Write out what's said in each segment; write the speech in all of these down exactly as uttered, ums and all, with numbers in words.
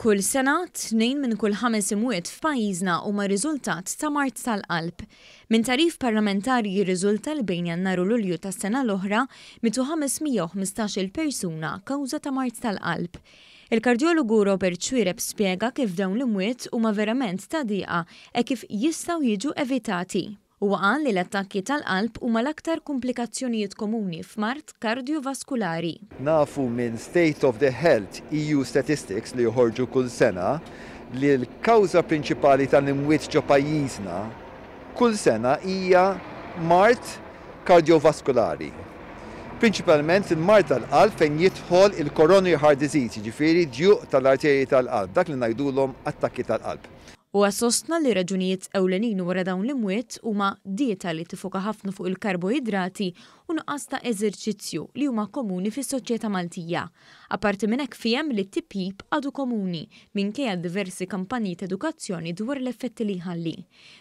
Kull sena, tnejn minn kull ħames imwiet f'pajjiżna huma riżultat ta' mard tal-qalb. Minn tagħrif parlamentari jirriżulta li bejn Jannar u Lulju tas-sena l-oħra mietu ħames mija u ħmistax-il persuna kawża ta' mard tal-qalb. Il-kardjologu Robert Xuereb spjega kif dawn l-imwiet huma verament ta' diqa e kif jistgħu jiġu evitati. Huwa qal li l-attakki tal-qalb huma l-aktar komplikazzjonijiet komuni f'mard kardiovaskulari. Nafu minn State of the Health E U Statistics li joħorġu kull sena li l-kawża prinċipali tal-imwiet ġo pajjiżna kull sena hija mard kardiovaskulari. Prinċipalment il-mard tal-qalb fejn jidħol il-coronary heart disease, jiġifieri djuq tal-arterji tal-qalb, dak li ngħidulhom attakki tal-qalb. Huwa sostna li raġunijiet ewlenin wara dawn l-imwiet huma dieta li tifoka ħafna fuq il-karboidrati u nuqqas ta' eżerċizzju li huma komuni fis-soċjetà Maltija. Apparti minn hekk fiehem li t-tipjip għadu komuni minkejja diversi kampanji ta' edukazzjoni dwar l-effetti li jħalli.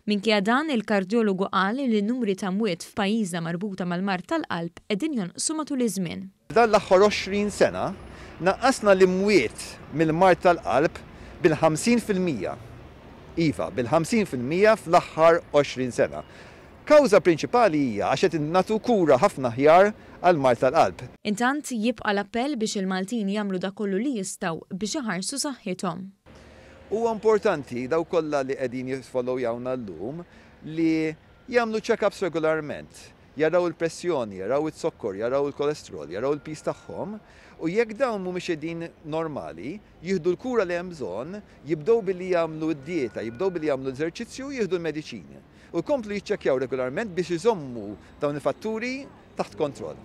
Minkejja dan, il-kardjologu qal li n-numri ta' mwiet f'pajjiżna marbuta mal-mard tal-qalb qegħdin jonqsu matul iż-żmien. Dan l-aħħar għoxrin sena naqqasna l-imwiet mill-mard tal-qalb bil-ħamsin fil-mija. Iva, bil-ħamsin fil-mija fl-aħħar għoxrin sena. Kawża prinċipali hija għax qed nagħtu kura ħafna aħjar għal mard tal-qalb. Intant jibqa' l-appell biex il-Maltin jagħmlu dak kollu li jistgħu biex iħarsu saħħithom. Huwa importanti daw kollha li qegħdin jisfollowjawna llum li jagħmlu check-ups regolarment, jaraw il-pressjoni, jaraw iz-zokkor, jaraw il-kolesterol, jaraw il-piż tagħhom, u jekk dawn mhumiex qegħdin normali, jieħdu l-kura li hemm bżonn, jibdew billi jagħmlu d-dieta, jibdew billi jagħmlu l-eżerċizzju, jieħdu l-mediċini. U jkomplu jiċċekkjaw regolarment biex iżommu dawn il-fatturi taħt kontroll.